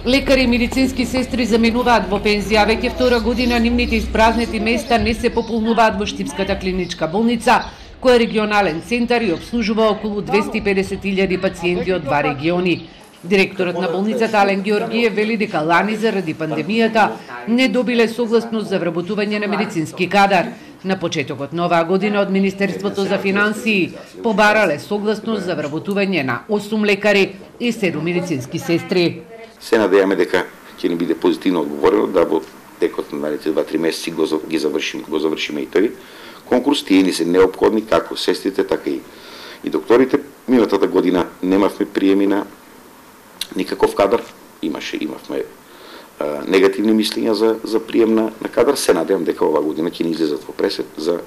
Лекари и медицински сестри заменуваат во пензија, веќе втора година нивните испразнети места не се пополнуваат во Штипската клиничка болница, која е регионален центар и обслужува околу 250.000 пациенти од два региони. Директорот на болницата Ален Георгиев вели дека лани заради пандемијата не добиле согласност за вработување на медицински кадар. На почетокот на оваа година од Министерството за финансии побарале согласност за вработување на 8 лекари и 7 медицински сестри. Се надеваме дека ќе ни биде позитивно одговорено да во текот на наредните 2-3 месеци го завршиме и тој конкурс. Тие ни се неопходни како сестрите, така и докторите. Минатата година немавме приеми на никаков кадар, имавме негативни мислења за прием на кадар. Се надевам дека оваа година ќе ни излезат во пресед за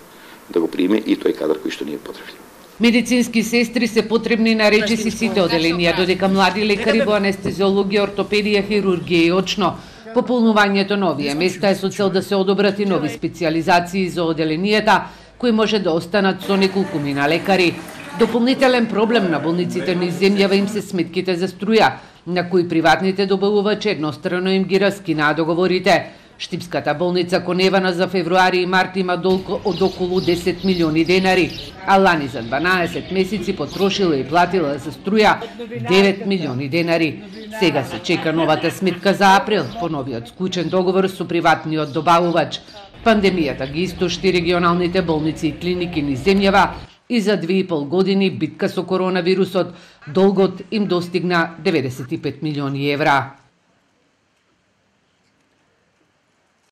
да го приеме и тој кадар кој што ни е потребен. Медицински сестри се потребни на речиси сите оделенија, додека млади лекари во анестезиологија, ортопедија, хирургија и очно. Пополнувањето на овие места е со цел да се одобрат и нови специјализации за оделенијата, кои може да останат со неколкумина лекари. Дополнителен проблем на болниците низ земјава им се сметките за струја, на кои приватните добавувачи еднострано им ги раскинаа договорите. Штипската болница Коневана за февруари и март има долг од околу 10 милиони денари, а лани за 12 месеци потрошила и платила за струја 9 милиони денари. Сега се чека новата сметка за април, по новиот склучен договор со приватниот добавувач. Пандемијата ги истошти регионалните болници и клиники низ земјава и за 2,5 години битка со коронавирусот долгот им достигна 95 милиони евра.